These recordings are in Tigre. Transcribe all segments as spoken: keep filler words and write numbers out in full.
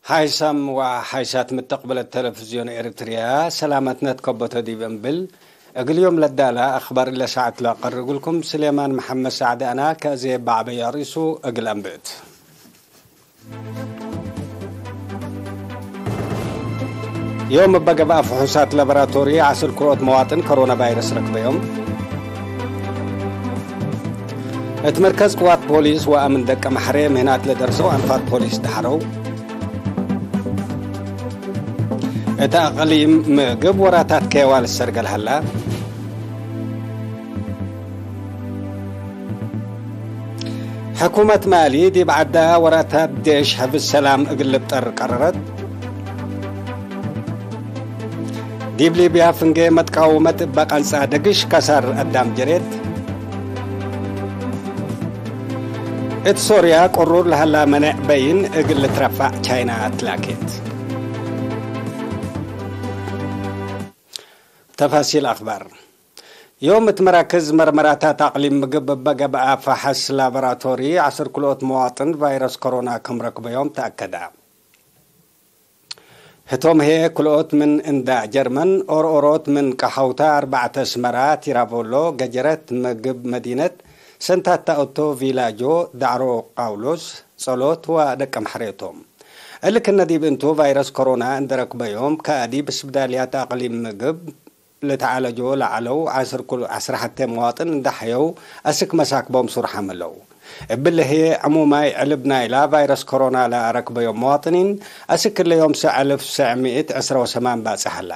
ሓይሳም ወሓይሳት ምተቅበለት ተለፍዝዮን ኤረትርያ፣ ሰላመትነ ትከበቶ ዲብ እምብል፣ እግል ዮም ለዳላ አኽባር ለሰዓት ለአቀርብ እግልኩም ስሌማን መሐመድ ሳዕድ አና። ከእዜ በዐበየ አርእሱ እግል አንብእት። ዮም እበ ገብአ ፍሑሳት ላቦራቶሪ ዐስር ክልኦት መዋጥን ኮሮና ቫይረስ ረክበዮም። እት መርከዝ ቅዋት ፖሊስ ወአምን ደቀ መሐሬ ምህናት ለደርሰው አንፋር ፖሊስ ደሐረው። እት አቅሊም ምግብ ወራታት ኬዋ ልሰርገል ሀላ። ሕኩመት ማሊ ዲብ ዐዳ ወራታት ዴሽ ሕፍዝ ሰላም እግል ልብጠር ቀረረት። ዲብ ሊብያ ፍንጌ መትቃውመት እበ ቀንጻ ደግሽ ከሳር አዳም ጀሬት። እት ሶርያ ቅሩር ለሀላ መኔዕ በይን እግል ልትረፋዕ ቻይና አትላኬት። ተፋሲል አኽባር። ዮም እት መራክዝ መርመራታት አቅሊም ምግብ እበ ገብአ ፈሐስ ላቦራቶሪ ዐስር ክልኦት መዋጥን ቫይረስ ኮሮና ክም ረክበዮም ተአከደ። ህቶም ህዬ ክልኦት ምን እንዳ ጀርመን፣ ኦርኦሮት ምን ቀሐውታ፣ አርበዕተ አስመራ፣ ቲራቮሎ፣ ገጀረት፣ ምግብ መዲነት፣ ሰንታታ ኦቶ፣ ቪላጆ፣ ዳዕሮ ቃውሎስ፣ ጸሎት ወደቀምሐሬ ቶም። እሊ ክነ ዲብ እንቱ ቫይረስ ኮሮና እንደ ረክበዮም፣ ከዲብ ስብዳልያት አቅሊም ምግብ ልትዓለጆ ለዐለው ዐስር ኩል ዐስር ሐቴ መዋጥን እንደ ሐየው አስክ መሳክቦም ሱርሐም ህለው። እብሊ ህዬ ዕሙማይ ዕልብ ናይላ ቫይረስ ኮሮና ለአረክበዮም መዋጥኒን አስክ እለ ዮም ሰዕ አልፍ ሰዕ ምእት ዕስራ ወሰማን ባጽሕ ሀላ።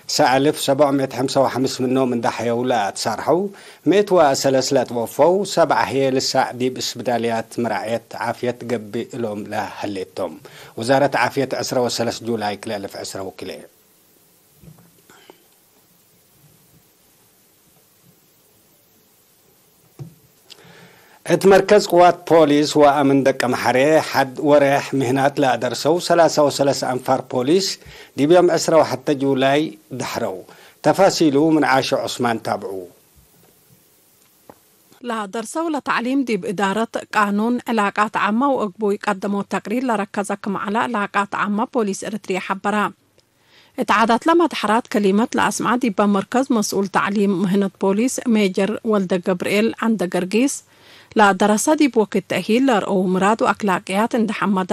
ሰዕ አልፍ ሰብዕ ምእት ሐምሳ ወሐምስ ምኖም እንደ ሐየው ለአትሳርሐው፣ ምእት ወሰለስ ለትወፈው፣ ሰብዓ ህዬ ልሳዕ ዲብ እስብዳልያት መራዕየት ዓፍየት ገብእ እሎም ለሀሌቶም። ወዛረት ዓፍየት ዕስራ ወሰለስ ጁላይ ክልኤ አልፍ ዕስራ ወክልኤ። እት መርከዝ ቅዋት ፖሊስ ወአምን ደቀምሐሬ፣ ሐድ ወሬሕ ምህናት ለአደርሰው ሰላሳ ወሰለስ አንፋር ፖሊስ፣ ዲብ ዮም ዕስራ ወሐተ ጁላይ ደሐረው። ተፋሲሉ ምን ዓሾ ዑስማን ታብዑ። ለአደርሰው ለተዕሊም ዲብ እዳረት፣ ቃኑን፣ ዕላቃት ዓመ ወእግቡይ ቀደሞ ተቅሪር ለረከዘ ክም ዐለ ዕላቃት ዓመ ፖሊስ ኤረትርየ ሐበረ። እት ዓዳትለ መድሐራት ከሊመት ለአስምዐ ዲበ መርከዝ መስኡል ተዕሊም ምህነት ፖሊስ ሜጀር ወልደገብርኤል ዐንደገርጊስ፣ ለአደረሰ ዲብ ወክድ ተእሂል ለአርአው ምራድ ወአክላቅያት እንደ ሐመዳ፣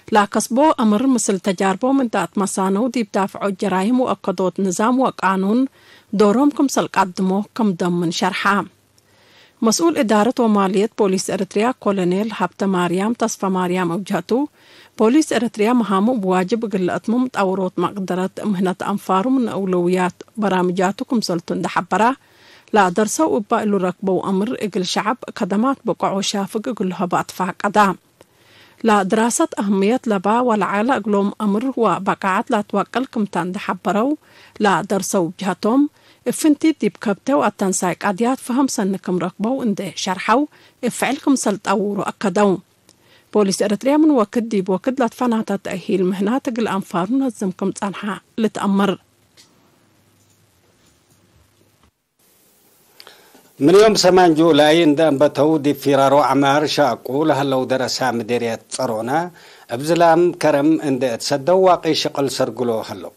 ለአከስቦ አምር ምስል ተጃርቦም እንደ አትመሳነው ዲብ ዳፍዖት ጀራይም ወአከዶት ንዛም ወቃኑን ዶሮም ክምሰል ቀድሞ ክም ደምን ሸርሐ። መስኡል እዳረት ወማልየት ፖሊስ ኤረትርያ ኮሎኔል ሀብተማርያም ተስፈማርያም እብ ጀህቱ፣ ፖሊስ ኤረትርያ መሃሙ እብ ዋጅብ እግል ለአትምም ጣውሮት መቅደረት ምህነት አንፋሩ ምን አውለውያት በራምጃቱ ክምሰልቱ እንደ ሐበረ፣ ለአደርሰው እበ እሉ ረክበው አምር እግል ሸዐብ ከደማት ብቆዕ ወሻፍግ እግሉ ሀበ አትፋቀደ። ለድራሰት አህምየት ለባ ወለዐለ እግሎም አምር ወበቃዐት ለአትወቅል ክምተ እንደ ሐበረው፣ ለደርሰው ጀሀቶም፣ እብ ፍንቲት ዲብ ከብቴ ወአተንሳይ ቀድያት ፈሀም ሰኒ ክም ረክበው እንዴ ሸርሐው፣ እብ ፍዕል ክምሰል ጠውሩ አከደው። ፖሊስ ኤረትርያ ምን ወክድ ዲብ ወክድ ለትፈናተ ተእሂል ምህናት እግል አንፋሩ ነዝም ክም ጸንሐ ልትአመር። ምን ዮም ሰማን ጁላይ እንደ አንበተው፣ ዲብ ፊራሮ ዐማር ሻቁ ለሀለው ደረሳ ምዴርየት ጸሮና፣ እብ ዝላም ከረም እንደ እትሰደው ዋቂ ሽቅል ሰርግሎ ሀለው።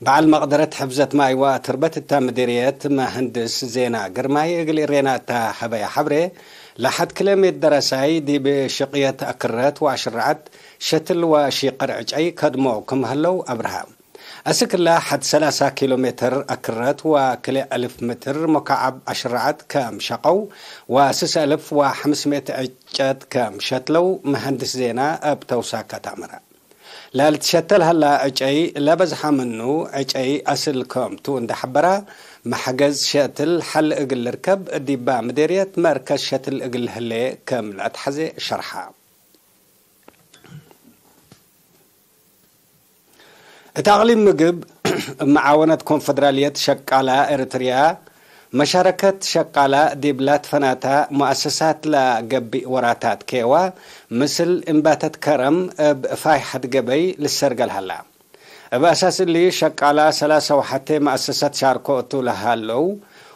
በዐል መቅደረት ሕፍዘት ማይ ወአትርበት እተ ምዴርየት መሀንድስ ዜና ግርማይ እግል እሬና እተ ሀበየ ሐብሬ፣ ለሐድ ክለ ምእት ደረሳይ ዲብ ሽቅየት አክረት ወአሽረዐት ሸትል ወሺቅር ዕጨይ ከድሞ ክም ሀለው አብርሀ። አስክለ ሐድ ሰላሳ ኪሎ ሜትር አክረት ወክልኤ አልፍ ምትር ሙካዐብ አሽረዐት ከም ሸቀው፣ ወስስ አልፍ ወሐምስ ምእት ዕጨት ከም ሸትለው መሀንድስ ዜና እብ ተውሳከት አመረ። ለልትሸተል ሀላ ዕጨይ ለበዝሐ ምኑ ዕጨይ አስል ከም ቱ እንደ ሐበረ፣ መሕገዝ ሸትል ሐል እግል ልርከብ ዲባ ምዴርየት መርከዝ ሸትል እግል ህሌ ከም ለአትሐዜ ሸርሐ። እት አቅሊም ምግብ፣ እብ መዓወነት ኮንፈደራልየት ሸቃላ ኤረትርያ፣ መሻረከት ሸቃላ ዲብ ላትፈናታ ሙአሰሳት ለገብእ ወራታት ኬዋ፣ ምስል እምባተት ከረም እብ ፋይሐት ገበይ ልሰርገል ሀላ። እብ አሳስ እሊ፣ ሸቃላ ሰላሳ ወሐቴ መአሰሳት ሻርኮ እቱ ለሀለው፣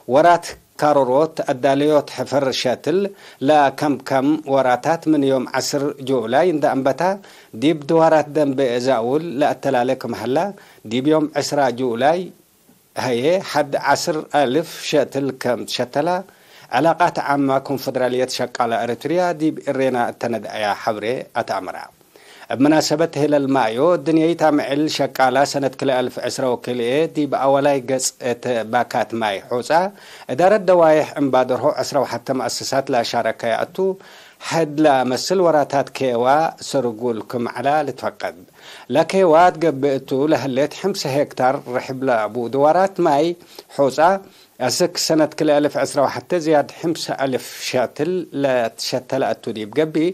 ወራት ካሮሮት አዳለዮት ሕፈር ሸትል ለከምከም ወራታት ምን ዮም ዐስር ጁላይ እንደ አንበታ፣ ዲብ ድዋራት ደንቤ ዛውል ለአተላሌ ክም ሀላ፣ ዲብ ዮም ዕስራ ጁላይ ሀዬ ሐድ ዐስር አልፍ ሸትል ከም ትሸተላ፣ ዕላቃት ዓመ ኮንፈደራልየት ሸቃላ ኤረትርያ ዲብ እሬና እተ ነድአያ ሐብሬ አትአምራ። እብ መናሰበት ሄለል ማዮ፣ ድንየይት አምዕል ሸቃላ ሰነት ክልኤ አልፍ ዕስራ ወክልኤ ዲብ አወላይ ገጽ እት ባካት ማይ ሑጻ፣ እዳረት ደዋይሕ እምባደርሆ ዕስራ ወሐተ መአሰሳት ለአሻረከያ እቱ፣ ሕድ ለመስል ወራታት ኬዋ ስርጉል ክም ዐላ ልትፈቀድ። ለኬዋ ትገብእ እቱ ለህሌት ሕምሰ ሄክታር ርሕብ ለቡ ድዋራት ማይ ሑጻ፣ አስክ ሰነት ክልኤ አልፍ ዕስራ ወሐተ ዝያድ ሕምሰ አልፍ ሸትል ለትሸተለ እቱ ዲብ ገብእ፣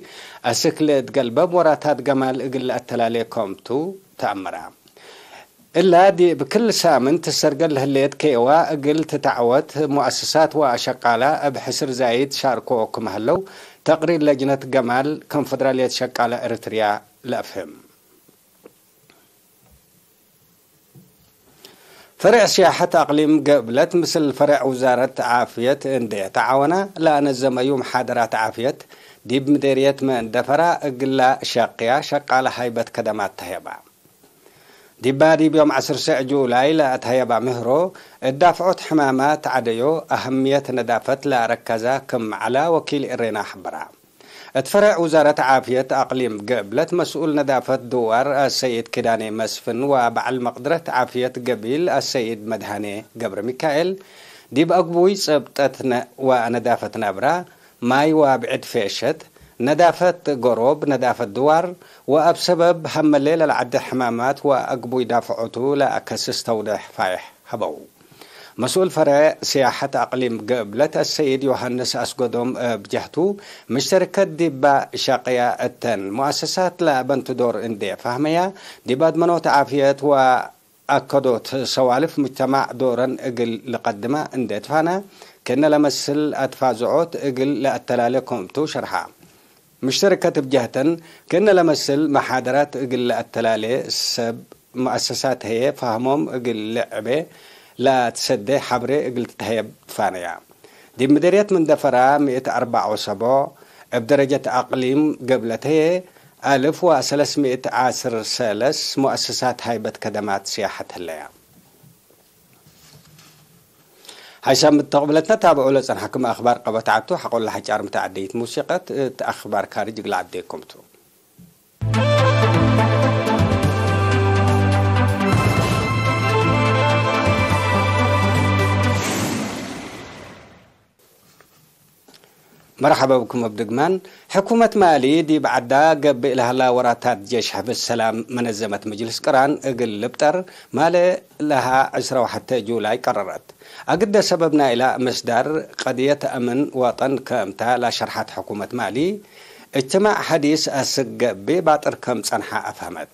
አስክ ለእትገልበብ ወራታት ገማል እግል ለአተላሌ ከምቱ ተአምራ። እላ ዲብ ክል ሳምንት ትሰርገል ለህሌት ኬዋ እግል ትትዐወት፣ ሙአሰሳት ወአሸቃላ እብ ሕስር ዛይድ ሻርኮ ክም ሀለው፣ ተቅሪር ለጅነት ገማል ኮንፈደራልየት ሸቃላ ኤረትርያ ለአፍህም። ፈሬዕ ስያሐት አቅሊም ገብለት ምስል ፈሬዕ ውዛረት ዓፍየት እንዴ ተዓወና ለአነዘመዩ መሓደራት ዓፍየት፣ ዲብ ምዴርየት መንደፈራ እግላ ሸቅያ ሸቃለ ሃይበት ከደማት ተህየባ። ዲባ ዲብ ዮም ዐስር ሰዕ ጁላይ ለአትሀየባ ምህሮ፣ እት ዳፍዖት ሕማማት ዐደዮ አህምየት ነዳፈት ለአረከዛ ክም ዐላ ወኪል እሬና ሐበራ። እት ፈሬዕ ውዛረት ዓፍየት አቅሊም ገብለት መስኡል ነዳፈት ድዋር አሰይድ ኪዳኔ መስፍን ወበዐል መቅድረት ዓፍየት ገቢል አሰይድ መድሃኔ ገብረሚካኤል፣ ዲብ አግቡይ ጸብጠት ነ-፣ ወነዳፈት ናብራ፣ ማይ ወብዕድ ፌሸት፣ ነዳፈት ጎሮብ፣ ነዳፈት ድዋር ወአብ ሰበብ ሀመሌ ለልዐደ ሕማማት ወአግቡይ ዳፍዖቱ ለአከስስ ተውዴሕ ፋይሕ ሀበው። መስኡል ፈሬዕ ስያሐት አቅሊም ገብለት አሰይድ ዮሐንስ አስገዶም እብ ጀህቱ፣ ምሽተርከት ዲባ ሸቅያ እተን ሙአሰሳት ለአበንቱ ዶር እንዴ ፋህመያ፣ ዲብ አድመኖት ዓፍየት ወአከዶት ሰዋልፍ ሙጅተማዕ ዶረን እግል ልቀድማ እንዴ ትፋና፣ ክእነ ለመስል አትፋዝዖት እግል ለአተላሌ ክምቱ ሸርሓ። ምሽተርከት እብ ጀህተን፣ ክእነ ለመስል መሓደራት እግል ለአተላሌ ሰብ ሙአሰሳት ህዬ ፋህሞም እግል ልዕቤ ለአትሰዴ ሐብሬ እግል ትትሀየብ ትፋነያ። ዲብ ምዴርየት መንደፈራ ምእት አርበዕ ወሰቦዕ፣ እብ ደረጀት አቅሊም ገብለት ህዬ አልፍ ወሰለስ ምእት ዐስር ሰለስ ሙአሰሳት ሃይበት ከደማት ስያሐት ህለያ። ሐይሳም እት ተቅብለትነ ታብዑ ለጸንሐክም አክባር ቀበት ዐቱ፣ ሐቆለ ሐጫር ምተዐደይት ሙሲቀት እት አክባር ካርጅ እግል ዐዴኩም ቱ። መርሐበ ብኩም እብ ድግማን። ሕኩመት ማሊ ዲብ ዐዳ ገብእ ለሀላ ወራታት ጄሽ ሕፍዝ ሰላም መነዘመት ምጅልስ ቅራን እግል ልብጠር ማሌ ለሀ ዕስራ ወሐተ ጁላይ ቀረረት። አግደ ሰበብ ናይላ ምስዳር ቀድየት አምን ወጠን ክምታ ለሸርሐት ሕኩመት ማሊ፣ እጅትማዕ ሐዲስ አስክ ገብእ ባጥር ክም ጸንሐ አፍሀመት።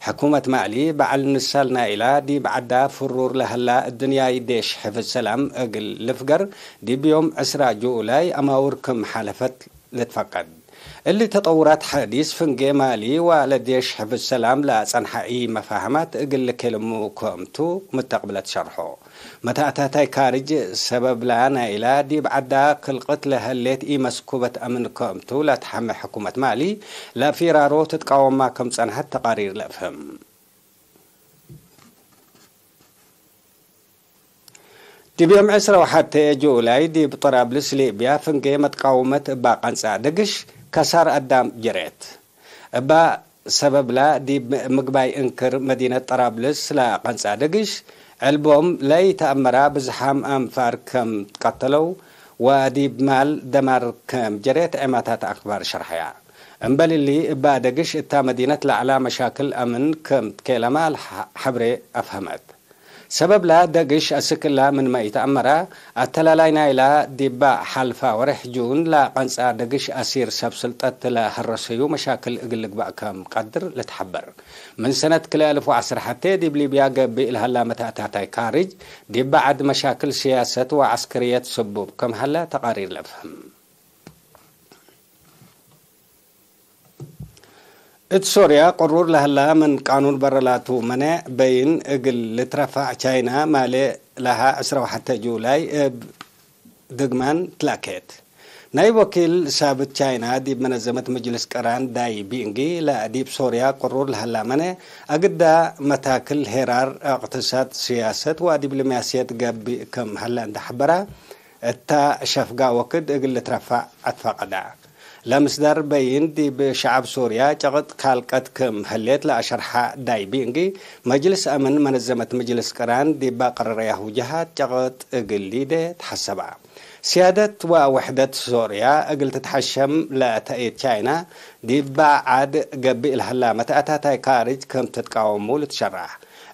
ሕኩመት ማሊ በዐል ንሳል ናይላ ዲብ ዐዳ ፍሩር ለሀላ እድንያይ ዴሽ ሕፍዝ ሰላም እግል ልፍገር ዲብ ዮም ዕስራ ጁላይ አማውር ክም ሓለፈት ልትፈቀድ። እሊ ተጠውራት ሐዲስ ፍንጌ ማሊ ወለዴሽ ሕፍዝ ሰላም ለአጸንሐ ኢመፋህማት እግል ልኬልሙ ክምቱ ምተቅብለት ሸርሖ። መተአታታይ ካርጅ ሰበብላ ናይላ ዲብ ዐዳ ክልቅት ለህሌት ኢመስኩበት አምን ክምቱ ለትሐመ ሕኩመት ማሊ ለፊራሮ ትትቃወማ ክም ጸንሐት ተቃሪር ለአፍህም። ዲብ ዮም ዕስራ ወሐቴ ጁላይ ዲብ ጠራብልስ ሊብያ ፍንጌ መትቃውመት እባ ቀንጻ ደግሽ ከሳር አዳም ጀሬት። እባ ሰበብላ ዲብ ምግባይ እንክር መዲነት ጠራብልስ ለቀንጻ ደግሽ ዕልቦም ለኢተአመራ ብዝሓም አንፋር ከም ትቀተለው ወዲብ ማል ደማር ከም ጀሬት ዔማታት አክባር ሸርሐያ። እምበል እሊ እባ ደግሽ እታ መዲነት ለዐላ መሻክል አምን ከም ትኬለማ ለሐብሬ አፍሀመት። ሰበብላ ደግሽ አስክ እላ ምንመ ኢተአመራ፣ አተላላይ ናይላ ዲባ ሐልፋ ወሬሕ ጁን ለቀንጻ ደግሽ አሲር ሰብ ስልጠት ለሀረሰዩ መሻክል እግል ልግባእ ከም ቀድር ልትሐበር። ምን ሰነት ክልኤ አልፍ ወዐስር ሐቴ ዲብ ሊብያ ገብእ ለሀላ መተአታታይ ካርጅ፣ ዲባ ዐድ መሻክል ስያሰት ወዐስክርየት ስቡብ ከም ሀላ ተቃሪር ለፍህም። እት ሶርያ ቅሩር ለሀላ ምን ቃኑን በረ ላቱ መኔዕ በይን እግል ልትረፋዕ ቻይና ማሌ ለሀ ዕስራ ወሐተ ጁላይ እብ ድግማን ትላኬት። ናይብ ወኪል ሳብት ቻይና ዲብ መነዘመት መጅልስ ቅራን ዳይ ቢንጊ ለዲብ ሶርያ ቅሩር ለሀላመነ አግዳ መታክል ሄራር፣ እቅትሳድ፣ ስያሰት ወዲብሎማስየት ገብእ ክም ሀለ እንደ ሐበራ፣ እታ ሸፍጋ ወክድ እግል ልትረፋዕ አትፋቀዳ። ለምስዳር በይን ዲብ ሸዐብ ሶርያ ጨቅጥ ካልቀት ክም ህሌት ለአሸርሐ ዳይ ቢንጊ፣ መጅልስ አምን መነዘመት መጅልስ ቅራን ዲብ አቀረረያሁ ጀሃት ጨቅጥ እግል ሊዴ ተሐሰባ። ስያደት ወውሕደት ሶርያ እግል ትትሐሸም ለተአየት ቻይና፣ ዲባ ዐድ ገብእ ለሀላ መትአታታይ ካርጅ ክም ትትቃወሙ ልትሸራሕ።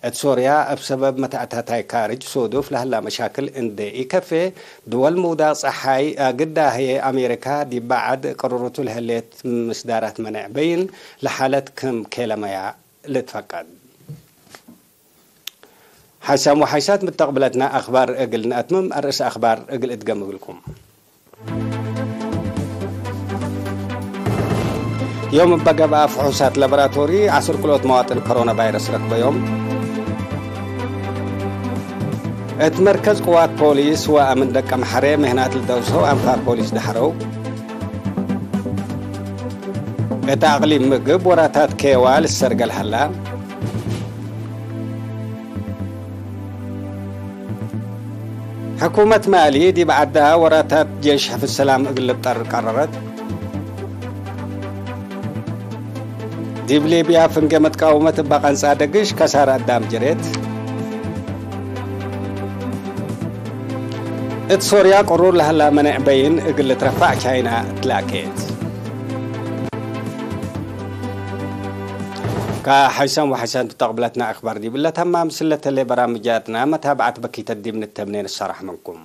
እት ሶርያ እብ ሰበብ መትአታታይ ካርጅ ሶዱፍ ለሀላ መሻክል እንዴ ኢከፌ፣ ድወል ምውዳቅ ጸሓይ አግዳ ህዬ አሜሪካ ዲባ ዐድ ቅርሩቱ ለህሌት ምስዳራት መኔዕ በይን ለሓለት ክም ኬለመያ ልትፈቀድ። ሓይሳም ወሓይሳት ምተቅብለትና አክባር እግል ነአትምም፣ አርእስ አክባር እግል እድገም እግልኩም። ዮም እበ ገብአ ፍሑሳት ላቦራቶሪ ዐስር ክልኦት መዋጥን ኮሮና ቫይረስ ረክበዮም። እት መርከዝ ቅዋት ፖሊስ ወአምን ደቀምሐሬ ምህናት ልደውሰው አንፋር ፖሊስ ደሐረው። እት አቅሊም ምግብ ወራታት ኬዋ ልሰርገል ሀላ። ሕኩመት ማሊ ዲብ ዐዳ ወራታት ጄሽ ሕፍዝ ሰላም እግል ልብጠር ቀረረት። ዲብ ሊብያ ፍንጌ መትቃውመት እበ ቀንጻ ደግሽ ከሳረ አዳም ጅሬት። እት ሶርያ ቅሩር ለሀላ መኔዕ በይን እግል ልትረፋዕ ቻይና ትላኬት። ከሐይሳም ወሐይሳም ትተቅብለትና አክባር ዲብለ ተማም ስለተሌ በራምጃትና መታብዐት በኪተት ዲብ ንተምኔ ንሰራሕ ምንኩም።